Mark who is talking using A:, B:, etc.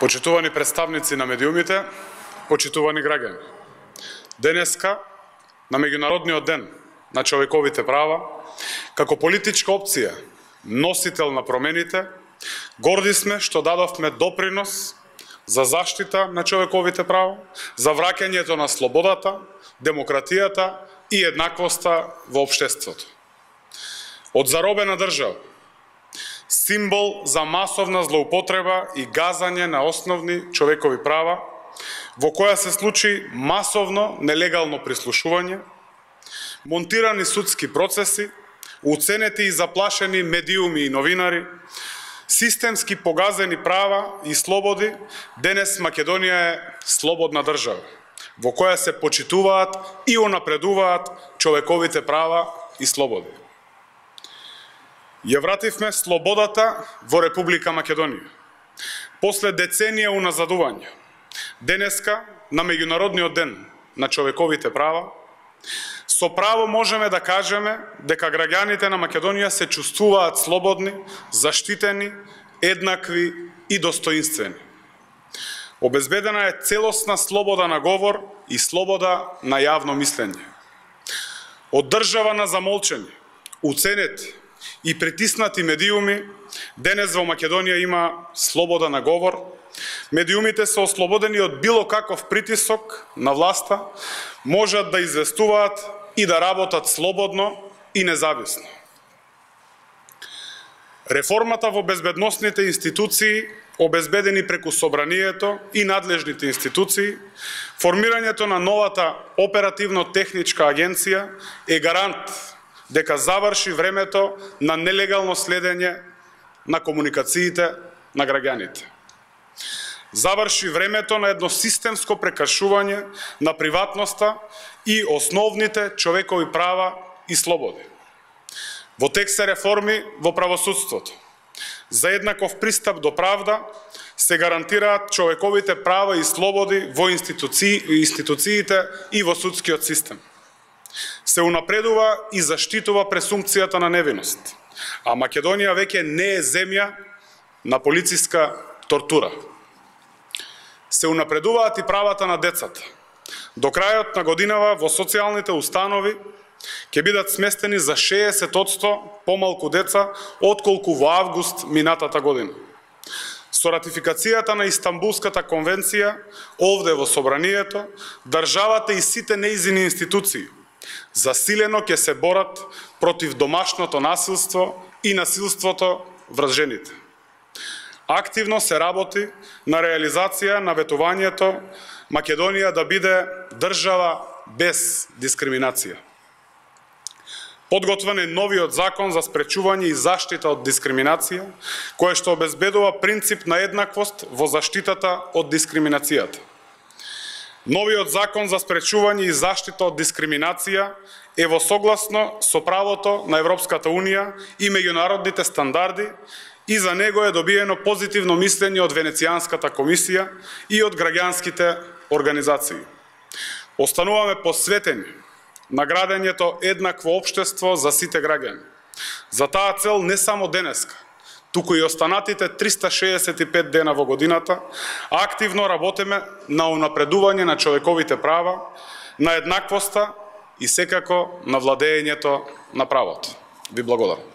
A: Почитувани представници на медиумите, почитувани граѓани. Денеска, на Меѓународниот ден на човековите права, како политичка опција, носител на промените, горди сме што дадовме допринос за заштита на човековите права, за враќањето на слободата, демократијата и еднаквоста во општеството. Од заробена држава, символ за масовна злоупотреба и газање на основни човекови права, во која се случи масовно нелегално прислушување, монтирани судски процеси, уценети и заплашени медиуми и новинари, системски погазени права и слободи, денес Македонија е слободна држава, во која се почитуваат и унапредуваат човековите права и слободи. Ја вративме слободата во Република Македонија. После деценија уназадување, денеска, на Меѓународниот ден на човековите права, со право можеме да кажеме дека граѓаните на Македонија се чувствуваат слободни, заштитени, еднакви и достоинствени. Обезбедена е целосна слобода на говор и слобода на јавно мислење. Од држава на замолчени, уценети и притиснати медиуми, денес во Македонија има слобода на говор. Медиумите се ослободени од било каков притисок на власта, можат да известуваат и да работат слободно и независно. Реформата во безбедносните институции, обезбедени преку Собранието и надлежните институции, формирањето на новата оперативно-техничка агенција е гарант дека заврши времето на нелегално следење на комуникациите на граѓаните. Заврши времето на едно системско прекршување на приватноста и основните човекови права и слободи. Во тек се реформи во правосудството. За еднаков пристап до правда се гарантираат човековите права и слободи во институциите и во судскиот систем. Се унапредува и заштитува пресумпцијата на невиност, а Македонија веќе не е земја на полициска тортура. Се унапредуваат и правата на децата. До крајот на годинава во социјалните установи ќе бидат сместени за 60% помалку деца отколку во август минатата година. Со ратификацијата на Истанбулската конвенција, овде во Собранието, државата и сите нејзини институции засилено ќе се борат против домашното насилство и насилството врз жените. Активно се работи на реализација на ветувањето Македонија да биде држава без дискриминација. Подготвен е новиот закон за спречување и заштита од дискриминација, кој што обезбедува принцип на еднаквост во заштитата од дискриминацијата. Новиот закон за спречување и заштита од дискриминација е во согласно со правото на Европската Унија и меѓународните стандарди и за него е добиено позитивно мислење од Венецијанската комисија и од граѓанските организации. Остануваме посветени на градењето еднакво општество за сите граѓани. За таа цел не само денеска, туку и останатите 365 дена во годината, активно работиме на унапредување на човековите права, на еднаквоста и секако на владењето на правото. Ви благодарам.